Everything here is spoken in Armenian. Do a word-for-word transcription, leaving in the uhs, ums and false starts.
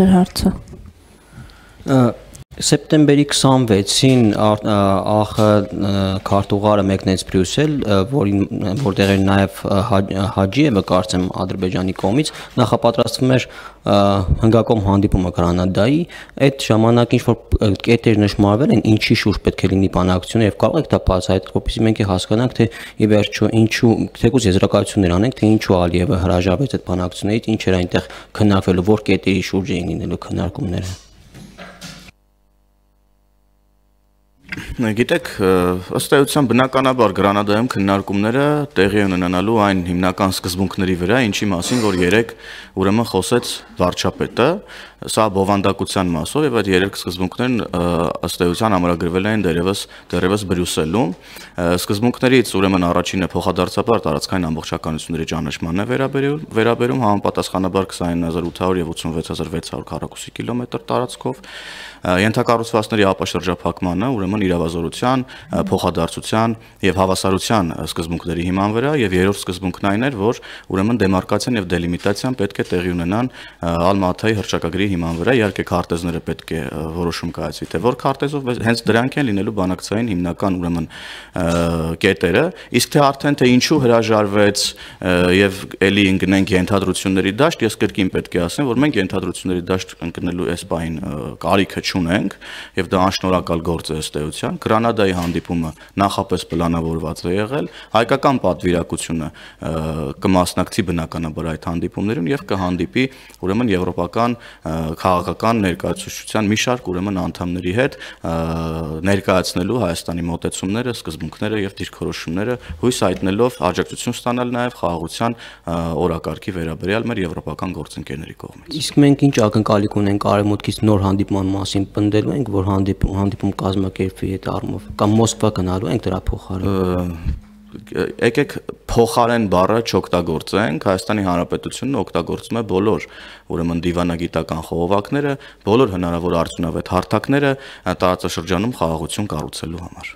ձեր հարցը։ Սեպտեմբերի քսանվեցին ԱԽ քարտուղարը մեկնեց Բրյուսել, որտեղ էր նաև Հաջիևը, կարծեմ, Ադրբեջանի կողմից, նախապատրաստվում էր հնգակողմ հանդիպումը Գրանադայի, այդ ժամանակ ինչ-որ կետեր նշմարվել են, ինչի շուրջ պետք է լինի բանակցությունը և կարող եք դա բացահայտել, որպեսզի մենք հասկանանք, թե ի վերջո ինչու, թեկուզ եզրակացություններ անենք, թե ինչու Ալիևը հրաժարվեց այդ բանակցություններից, ինչ էր այնտեղ քննարկվելու, որ կետերի շուրջ էին լինելու քննարկումները։ Գիտեք, ըստ էության բնականաբար Գրանադայում քննարկումները տեղի են ունենալու այն հիմնական սկզբունքների վրա, ինչի մասին, որ երեք ուրեմն խոսեց վարչապետը, սա բովանդակության մասով եւ այդ երեք սկզբունքներն ըստ էության ամրագրվել են դերևս դերևս Բրյուսելում։ Սկզբունքներից ուրեմն առաջինը փոխադարձաբար տարածքային ամբողջականությունների ճանաչմանն է վերաբերում, համապատասխանաբար քսանինը հազար ութ հարյուր եւ ութսունվեց հազար վեց հարյուր քառակուսի կիլոմետր տարածքով, ենթակառուցվածքների ապաշրջափակմանը, ուրեմն իրավազորության, փոխադարձության եւ հավասարության սկզբունքների հիման վրա, եւ երրորդ սկզբունքն այն էր, որ ուրեմն դեմարկացիան եւ դելիմիտացիան պետք է տեղի ունենան Ալմատայի հռչակագրի հիման վրա, իհարկե քարտեզները պետք է որոշում կայացվի, թե որ քարտեզով, հենց դրանք են լինելու բանակցային հիմնական ուրեմն կետերը, իսկ թե արդեն թե ինչու հրաժարվեց եւ էլի ընկնենք ենթադրությունների դաշտ, ես կրկին պետք է ասեմ, որ մենք ենթադրությունների դաշտ ընկնելու այս պահին կարիքը չունենք եւ դա անշնորհակալ գործ է ըստ էության։ Գրանադայի հանդիպումը նախապես պլանավորված է եղել, հայկական պատվիրակությունը կմասնակցի բնականաբար այդ հանդիպումներին եւ կհանդիպի ուրեմն եվրոպական քաղաքական ներկայացուցչության մի շարք ուրեմն անդամների հետ ներկայացնելու Հայաստանի մոտեցումները, սկզբունքները եւ դիրքորոշումները, հույս հայտնելով աջակցություն ստանալ նաեւ խաղաղության օրակարգի վերաբերյալ մեր եվրոպական գործընկերների կողմից։ Իսկ մենք ինչ ակնկալիք ունենք արևմուտքից նոր հանդիպման մասին, պնդելու ենք, որ հանդիպում հանդիպում կազմակերպվի այդ առումով, կամ Մոսկվա գնալու ենք դրա փոխարեն։ Եկեք փոխարեն բառը չօգտագործենք, Հայաստանի Հանրապետությունը օգտագործում է բոլոր ուրեմն դիվանագիտական խողովակները, բոլոր հնարավոր արդյունավետ հարթակները տարածաշրջանում խաղաղություն կառուցելու համար։